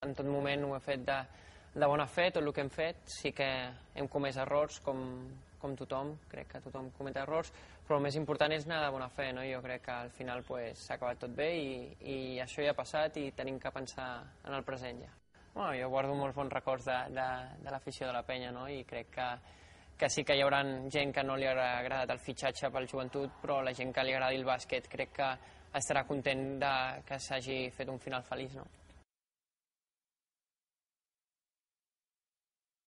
en tot moment ho he fet de bona fe, tot el que hem fet. Sí que hem comès errors, com tothom, crec que tothom comet errors, però el més important és anar de bona fe, no? Jo crec que al final s'ha acabat tot bé i això ja ha passat i tenim que pensar en el present ja. Bueno, jo guardo molts bons records de l'afició de la penya, no? I crec que sí que hi haurà gent que no li ha agradat el fitxatge pel Joventut, però la gent que li agradi el bàsquet crec que estarà content que s'hagi fet un final feliç, no?